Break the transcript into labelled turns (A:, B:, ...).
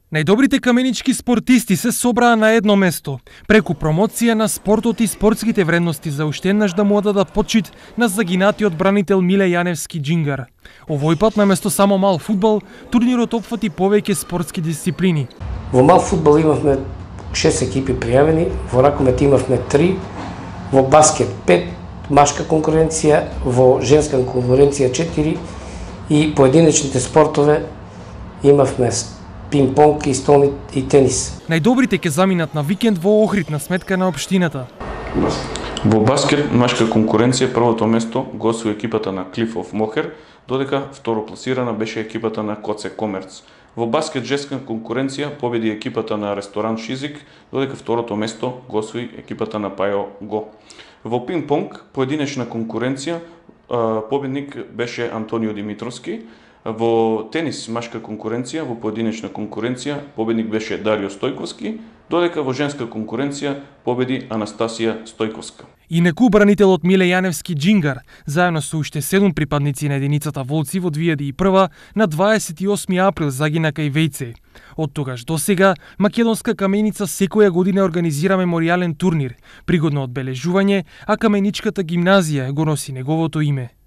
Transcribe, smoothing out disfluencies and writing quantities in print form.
A: Најдобрите каменички спортисти се собраа на едно место, преку промоција на спортот и спортските вредности за уште еднаш да му дадат почит на загинатиот бранител Миле Јаневски Џингар. Овој пат наместо само мал фудбал, турнирот опфати повеќе спортски дисциплини.
B: Во мал фудбал имавме 6 екипи пријавени, во ракомет имавме 3, во баскет 5, машка конкуренција, во женска конкуренција 4 и поединечните спортове имавме пинг-понг и столни и тенис.
A: Најдобрите ќе заминат на викенд во Охрид на сметка на општината.
C: Во баскет машка конкуренција првото место го освои екипата на Клифов Мохер, додека второпласирана беше екипата на Коце Комерц. Во баскет женска конкуренција победи екипата на Ресторант Шизик, додека второто место го освои екипата на Пајо Го. Во пинг-понг поединечна конкуренција победник беше Антонио Димитровски. Во тенис машка конкуренција, во поединечна конкуренција победник беше Дарио Стојковски, додека во женска конкуренција победи Анастасија Стојковска.
A: Инеку бранителот Миле Јаневски Џингар, заедно со уште 7 припадници на единицата Волци во 2001 на 28 април загина кај Вејце. Од тогаш до сега, македонска каменица секоја година организира меморијален турнир, пригодно одбележување, а каменичката гимназија го носи неговото име.